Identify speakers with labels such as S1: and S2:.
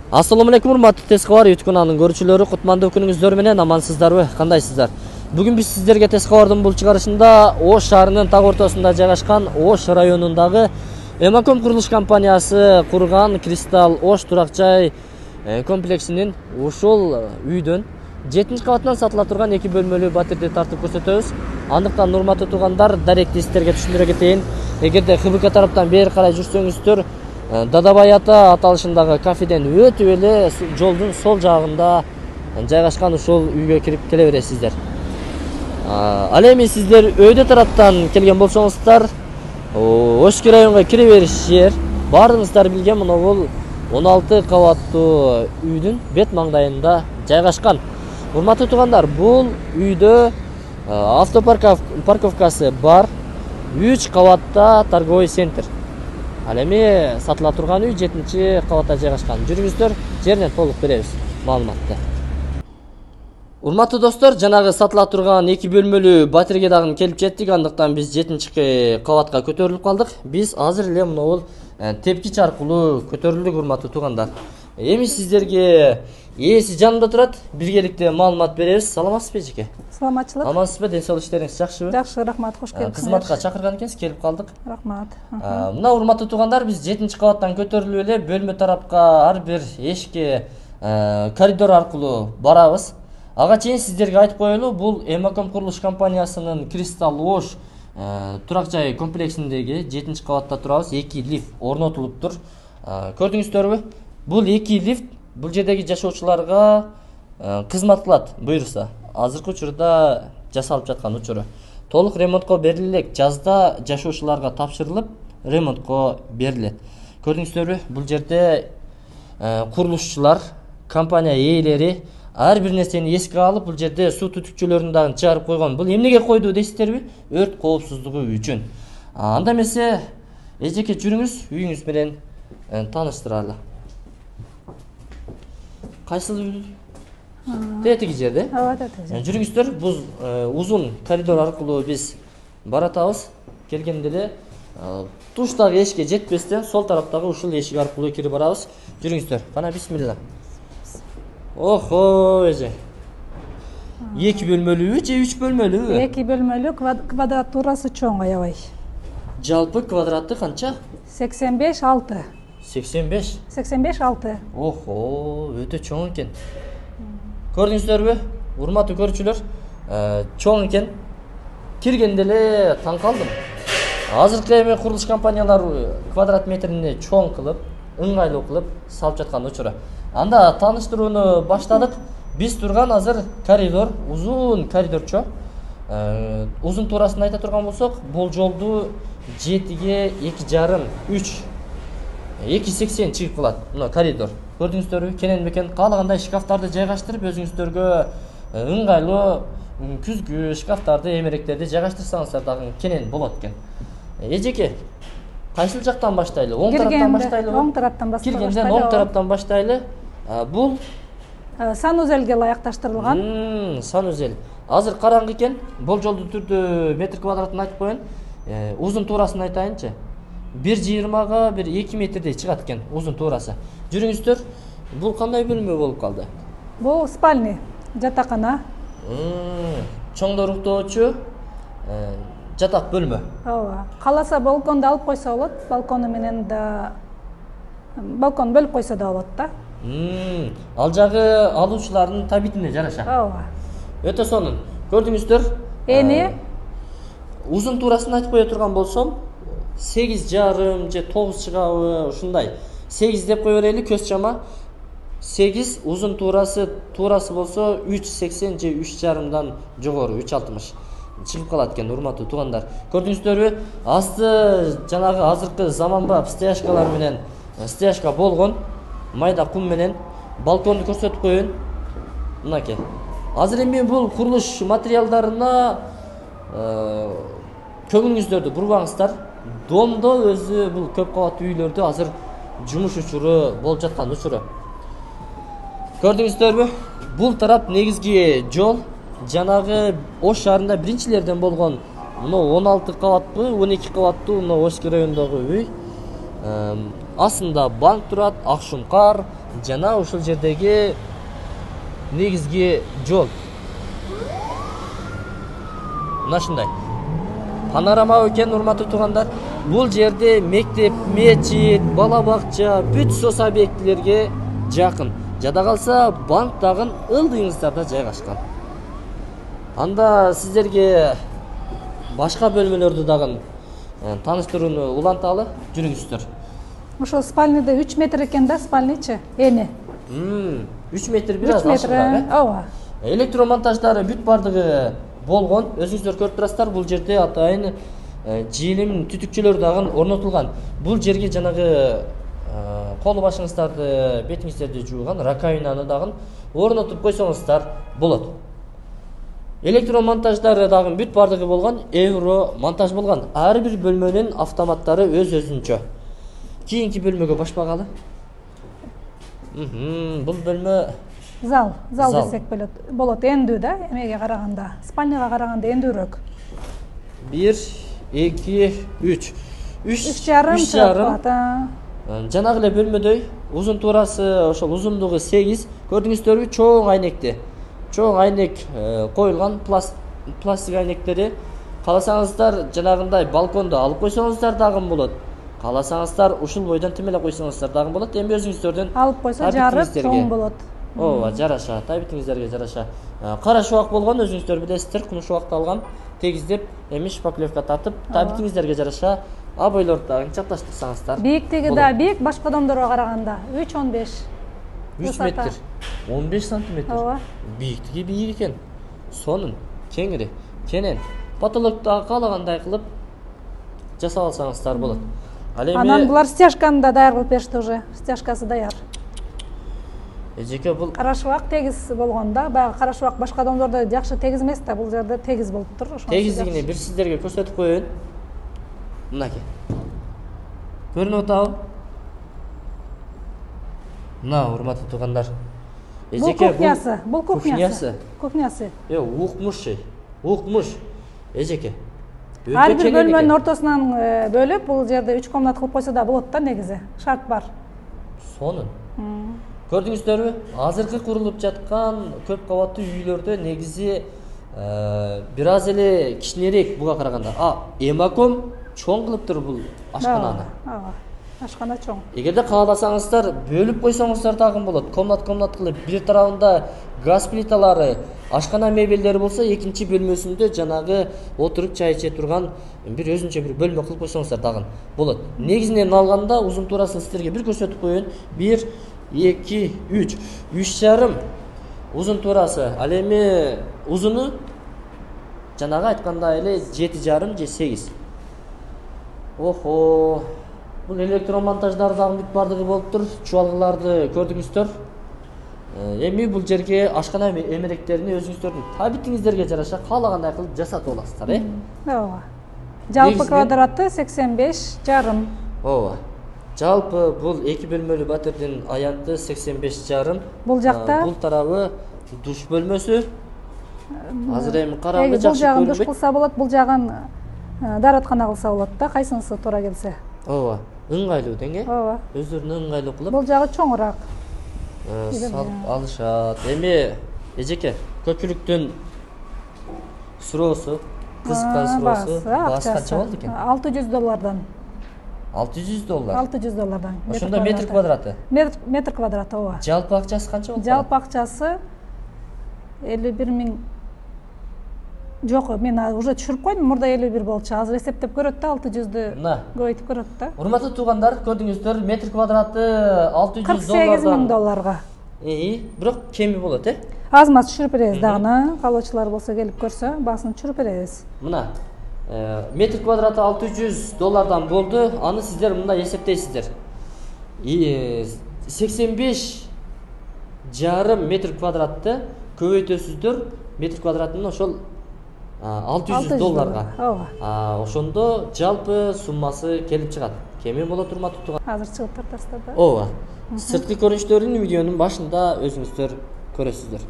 S1: Assalomu alaykum урматтуу Тез кабар YouTube каналынын көрүүчүлөрү, кутмандуу күнүңүздөр менен амансыздарбы? Кандайсыздар? Бүгүн биз сиздерге Тез кабардын бул чыгарышында Ош шаарынын так ортосунда жайгашкан Ош районундагы Эмаком курулуш компаниясы курган Кристалл Ош турак жай комплексинин ушул үйдөн 7-кабаттан сатыла турган 2 бөлмөлүү батирди тартып көрсөтөбүз. Андыктан урматтуу туугандар, даректи сиздерге түшүндүрө кетейин. Эгерде ХБК тараптан бери карай жүрсөңүздөр, Дадабай ата аталышындагы кафеден өтүп эле жолдун сол жагында жайгашкан ушул үйгө кирип келе бересиздер. Ал эми сиздер өйдө тараптан келген болсоңуздар, Ошки районго кире бериш жер баарыңыздар билген мына бул 16 кабаттуу үйдүн бет маңдайында жайгашкан. Урматтуу туугандар, бул үйдө автопарковкасы бар, 3 кабатта торговый центр. Ал эми сатыла турган үй 7-кабатта жайгашкан. Жүрүңүздөр, жеринен толук беребиз маалыматты. Урматтуу достор, жанагы сатыла турган 2 бөлмөлүү батирге дагы келип жеттик. Андыктан биз 7-кабатка көтөрүлүп калдык. Биз азыр эле мына бул тепкич аркылуу көтөрүлдүк, урматтуу туугандар. Эми сиздерге ээси жанымда турат, биргеликте маалымат беребиз. Саламатсызбы эжеке?
S2: Саламатчылык.
S1: Амансызбы, ден соолук иштериңиз жакшыбы?
S2: Жакшы, рахмат, кош келипсиз.
S1: Кызматка чакырган экенсиз, келип калдык.
S2: Рахмат.
S1: Мына урматтуу туугандар, биз 7-кабаттан көтөрүлүп эле бөлмө тарапка ар бир эшикке коридор аркылуу барабыз. Ага чейин сиздерге айтып коелу, бул Эмаком курулуш компаниясынын Кристалл Ош турак жай комплексиндеги 7-кабатта турабыз. 2 лифт орнотулуптур. Көрдүңүздөрбү? Бул 2 лифт бул жердеги жашоочуларга кызмат кылат буюрса. Азыркы учурда жасалып жаткан учуру. Толук ремонтко берилет. Жазда жашоочуларга тапшырылып, ремонтко берилет. Көрдүңүздөрбү? Бул жерде курулушчулар, компания ээлери ар бир нерсени эске алып, бул жерде суу түтүкчөлөрүн дагы чыгарып койгон. Бул эмнеге койду дейсиздерби? Өрт коопсуздугу үчүн. Анда эмесе, эжеке жүрүңүз, үйүңүз менен тааныштыралы. Кайсыл үй? Тетиги жерде?
S2: Ооба, тетиги.
S1: Жүрүңүздөр, бул узун коридор аркылуу биз баратабыз. Келгенде эле туштагы эшикке жетпестен сол тараптагы ушул эшик аркылуу кирип барабыз. Жүрүңүздөр. Кана бисмилла. Охо, эже. 2 бөлмөлүүбү же 3 бөлмөлүүбү?
S2: 2 бөлмөлүү, квадратурасы чоң аябай.
S1: Жалпы квадраты канча?
S2: 85-6.
S1: 85?
S2: 85-6.
S1: Охо, өтө чоң экен. Көрдүңүздөрбү? Урматтуу көрүүчүлөр, чоң экен. Киргенде эле таң калдым. Азыркы эми курулуш компаниялары квадрат метрине чоң кылып, ыңгайлуу кылып салып жаткан учуру. Анда тааныштырууну баштадык. Биз турган азыр коридор, узун коридорчо. Узун туурасын айта турган болсок, бул жолду 7ге 2,5, 3 2,80 чыгып калат. Мына коридор. Көрдүңүздөрбү? Кенен бекен каалагандай шкафтарды жайгаштырып, өзүңүздөргө ыңгайлуу күзгү шкафтарды, эмеректерди жайгаштырсаңыздар дагы кенен болот экен. Эжеке, кайсыл жактан баштайлы? Оң тараптан баштайлыбы?
S2: Оң тараптан баштайлы.
S1: Киргенден оң тараптан баштайлы. Бул
S2: санузелге ылайыкташтырылган.
S1: Санузел. Азыр караңгы экен. Болжолдуу түрдө метр квадратын айтып коеюн. Узун туурасын айтайынчы. 1,20га 2 метрдей чыгат экен узун туурасы. Жүрүңүздөр, бул кандай бөлмө болуп калды?
S2: Бул спальня, жатакана.
S1: Чоңдор уктоочу жатак бөлмө.
S2: Ооба. Кааласа балконду алып койсо болот. Балкону менен да балкон бөлүп койсо да болот да.
S1: Ал жагы алуучулардын табитине жараша.
S2: Ооба.
S1: Өтө сонун. Көрдүңүздөр?
S2: Эни
S1: узун туурасын айтып кое турган болсом, 8,5 же 9 чыгабы, ушундай. 8 деп кое берели, көз чама. 8 узун туурасы болсо 3,80 же 3,5дан жогору 3,60 чыгып калат экен, урматтуу туугандар. Көрдүңүздөрбү? Асты жанагы азыркы заманбап стояшкалар менен стояшка болгон. Майда кум менен балконду көрсөтүп коеюн. Мынакей. Азыр эми бул курулуш материалдарына көңүлүңүздөрдү бурбаңыздар. Домдо өзү бул көп кабаттуу үйлөрдө азыр жумуш учуру болуп жаткан учуру. Көрдүңүздөрбү? Бул тарап негизги жол жанагы Ош шаарында биринчилерден болгон мына 16 кабатпы, 12 кабаттуу мына Ошки районундагы үй. Астында банк турат, Акшумкар, жана ушул жердеги негизги жол мына ушундай панорама экен. Урматтуу туугандар, бул жерде мектеп, мечит, бала бакча, бүт соц объектилерге жакын. Жада калса банк дагы ылдыйыңыздарда жайгашкан. Анда сиздерге башка бөлмөлөрдү дагы тааныштырууну уланталы. Жүрүңүздөр.
S2: Ошол спальныйда 3 метр экен да, спальныйчы эни.
S1: 3 метр бир аз ашыгыраак.
S2: Ооба.
S1: Электромонтаждары бүт бардыгы болгон. Өзүңүздөр көрүп турасыздар, бул жерде атайын желим түтүкчөлөр дагы орнотулган. Бул жерге жанагы кол башыңыздарды, бетиңиздерди жууган раковинаны дагы орнотуп койсоңуздар болот. Электромонтаждары дагы бүт бардыгы болгон, евро монтаж болгон. Ар бир бөлмөнүн автоматтары өз-өзүнчө. Кийинки бөлмөгө башпагалы. Бул бөлмө
S2: Зал десек болот. Эндүү да, эмеге караганда, спальняга караганда эндүүрөөк.
S1: 1, 2, 3.
S2: 3,5.
S1: Жанагы эле бөлмөдөй узун туурасы ошол узундугу 8. Көрдүңүздөрбү? Чоң айнекти. Чоң айнек коюлган, пластик айнектери. Кааласаңыздар жанагындай балконду алып койсоңуздар дагы болот. Кааласаңыздар ушул бойдон тим эле койсоңуздар дагы болот. Эми өзүңүздөрдүн
S2: алып койсо жарып чоң болот.
S1: Ооба, жараша, табитиңиздерге жараша. Кара шубак болгон, өзүңүздөр билесиздер, кумуш шубакты алгам, тегиздеп, эми шпаклевка тартып, табитиңиздерге жараша обойлорду дагы чапташтырсаңыздар.
S2: Бийиктиги да бийик, башка домдорго караганда 3,15.
S1: 3 метр, 15 сантиметр.
S2: Ооба.
S1: Бийиктиги бийик экен. Сонун, кеңири, кенен. Потолокто каалагандай кылып жасап алсаңыздар болот.
S2: Анан булар стяжканы да даяр кылып беришти уже. Стяжкасы даяр.
S1: Эжеке бул
S2: кара шубак тегиз болгон да. Баягы кара шубак башка домдордо жакшы тегиз эмес да, бул жерде тегиз болуптур.
S1: Тегиздигини бир сиздерге көрсөтүп коеюн. Мынакей. Көрүнүп атабы? Мына, урматтуу туугандар.
S2: Бул кухнясы, бул кухнясы. Кухнясы.
S1: Укмуш. Эжеке.
S2: Ар бир бөлмөнүн ортосунан бөлүп, бул жерде 3 комнат кылып койсо да болот да негизи. Шарт бар.
S1: Сонун. Көрдүңүздөрбү? Азыркы курулуп жаткан көп кабаттуу үйлөрдө негизи бир аз эле кичинерээк буга караганда. Эмаком чоң кылыптыр бул ашкананы.
S2: Ооба. Ашкана чоң.
S1: Эгерде кааласаңыздар, бөлүп койсоңуздар дагы болот. Комнат кылып, бир тарабында газ плиталары, ашкана мебелдери болсо, экинчи бөлмөсүндө жанагы отуруп чай иче турган бир өзүнчө бир бөлмө кылып койсоңуздар дагы болот. Негизинен алганда узун туурасын сиздерге бир көрсөтүп коеюн. 1, 2, 3. 3,5 узун туурасы. Ал эми узуну жанагы айткандай эле 7,5 же 8. Охо. Бул электромонтаждар дагы бүт бардыгы болуптур. Чубалгыларды көрдүңүздөр. Эми бул жерге ашкана эмеректерини өзүңүздөрдүн табитиңиздерге жараша каалагандай кылып жасатып аласыздар,
S2: Ооба. Жалпы квадраты 85,5.
S1: Ооба. Жалпы бул 2 бөлмөлүү батирдин аянты 85,5.
S2: Бул жакта
S1: бул тарабы душ бөлмөсү. Азыр эми караңгы жакшы
S2: көрүнбөйт. Бул жагын душ
S1: көрүнбөйт.
S2: кылса болот, бул жагын даараткана кылса болот да, кайсынысы туура келсе.
S1: Ооба. Ыңгайлуу тең,
S2: Ооба.
S1: Өздөрүнө ыңгайлуу кылып.
S2: Бул жагы чоңураак.
S1: Салып алышат. Эми эжеке, көпчүлүктүн суроосу, кызыккан суроосу баасы канча болду экен?
S2: $600.
S1: $600.
S2: $600.
S1: Ошондо метр квадраты.
S2: Метр квадраты, ооба.
S1: Жалпы акчасы канча болду?
S2: Жалпы акчасы 51 000. Жок, мен уже түшүрүп койдум. Мурда 51 болчу. Азыр эсептеп көрөт да, 600ды көбөйтүп көрөт да.
S1: Урматтуу туугандар, көрдүңүздөр, метр квадраты $600.
S2: $48 000.
S1: Бирок кеми болот,
S2: Аз маз түшүрүп беребиз дагы. Калоочулар болсо келип көрсө, баасын түшүрүп беребиз.
S1: Мына, метр квадраты $600 болду. Аны сиздер мындай эсептейсиздер. 85,5 метр квадратты көбөйтөсүздөр. Метр квадратын ошол $600.
S2: Ооба.
S1: Ошондо жалпы суммасы келип чыгат. Кеми болот, урматтуу туугандар.
S2: Азыр чыгып тартасыздар да.
S1: Ооба. Сырткы көрүнүштөрүн видеонун башында өзүңүздөр көрөсүздөр.